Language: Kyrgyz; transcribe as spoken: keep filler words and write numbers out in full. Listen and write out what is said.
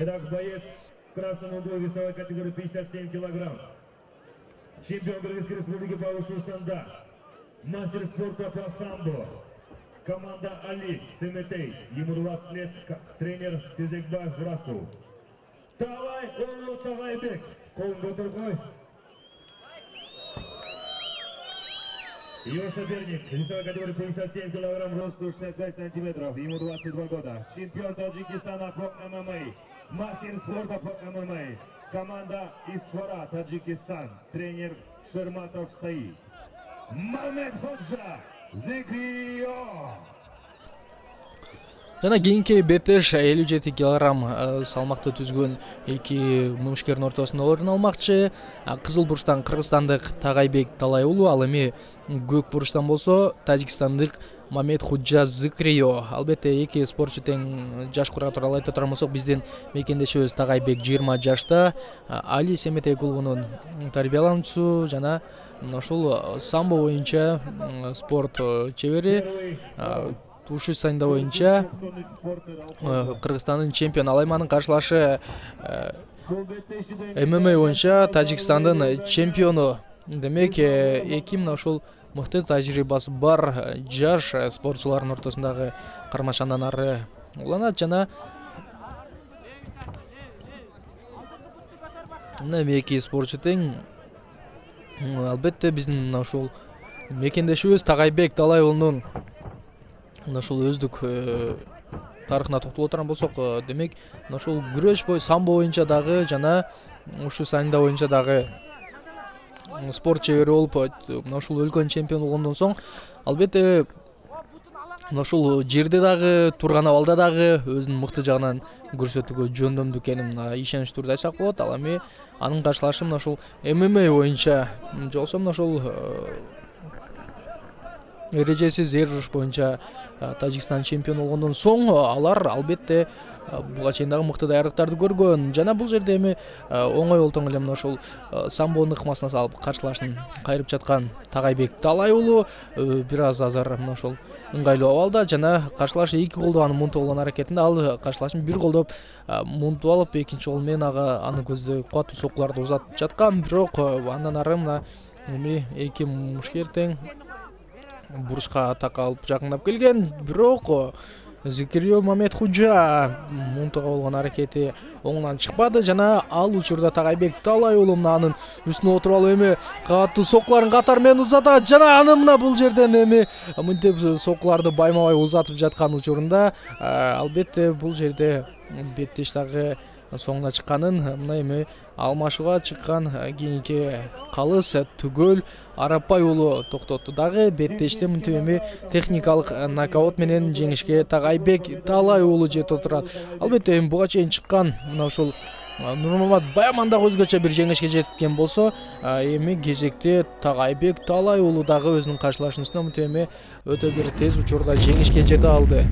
Итак, боец в красном углу весовой категории пятьдесят семь килограмм. Чемпион Кыргызской республики по ушу санда. Мастер спорта по самбо. Команда Али Семетей. Ему двадцать лет. Тренер Тезекбаев Расул. Давай, о, Тавайбек. Колын көтөргөй. Его соперник, весовой категории пятьдесят семь килограмм, рост шестьдесят пять сантиметров, ему двадцать два года. Чемпион Таджикистана по ММА, мастер спорта по ММА. Команда Исфара, Таджикистан, тренер Шерматов Саид. Мамед Ходжа, Зикрио. Жана кийинки беттеш элүү жети килограмм салмакты түзгөн эки мумушкердин ортосунда орун алмакчы. Кызыл бурчтан кыргызстандык Тагайбек Талай уулу, ал эми көк бурчтан болсо Тажикстандык Мамед Худжа Зикрио. Албетте эки спортчу тең жаш кураа тууралуу айта турган болсок, биздин мекендешибиз Тагайбек жыйырма жашта, Али Семетей клубунун тарбиялануучусу жана ушул самбо боюнча спорт чебери. Ушу сайында боюнча Кыргызстандын чемпиону. Ал айманын каршылашы ММА боюнча Тажикстандын чемпиону. Демек эки мына ушул мыкты тажрыйбасы бар жаш спортчулардын ортосундагы кармашандан ары уланат. Жана мына эки спортчу тең. Албетте биздин мына ушул мекендешибиз Тагайбек Талай уулунун ушул өздүк тарыхына токтоло турган болсок, демек ушул күрөш бой самбо боюнча дагы жана ушу сайында боюнча дагы спорт чебери болуп, ушул өлкөнүн чемпиону болгондон соң, албетте ушул жерде дагы турган абалда дагы өзүнүн мыкты жагынан көрсөтүүгө жөндөмдүү экенин ишенич турду айтсак болот. Ал эми анын каршылашы мына ушул ММА боюнча жолсо мына ушул эрежесиз эр уруш боюнча Тажикстан чемпиону болгондон соң алар албетте буга чейин дагы мыкты даярдыктарды көргөн. Жана бул жерде эми оңой олтоң эле мына ушул самбонун ыкмасына салып каршылашын кайрып жаткан Тагайбек Талай уулу бир аз азыр мына ушул ыңгайлуу абалда, жана каршылашы эки колдоп аны мунтуп алган аракетинде. Ал каршылашын бир колдоп мунтуп алып, экинчи кол менен ага аны көздөй кубаттуу соккуларды узатып жаткан. Бирок андан ары мына эми эки мушкер тең бурчка такалып жакындап келген. Бирок Зикрио Мамед Худжа мунтуга болгон аракети оңунан чыкпады жана ал учурда Тагайбек Талай уулу мына анын үстүнө отуруп алып эми катуу соккуларын катар менен узатат. Жана аны мына бул жерден эми мынтип соккуларды байма-бай узатып жаткан учурунда албетте бул жерде беттеш дагы соңуна чыкканын, мына эми алмашууга чыккан кийинки калыс түгөл Арапбай уулу токтотту дагы. Беттеште мынтип эми техникалык нокаут менен жеңишке Тагайбек Талай уулу жетип отурат. Албетте эми буга чейин чыккан мына ушул Нурмамат Баяман дагы өзгөчө бир жеңишке жеткен болсо, эми кезекте Тагайбек Талай уулу дагы өзүнүн каршылашуусуна мынтип эми өтө бир тез учурда жеңишке жете алды.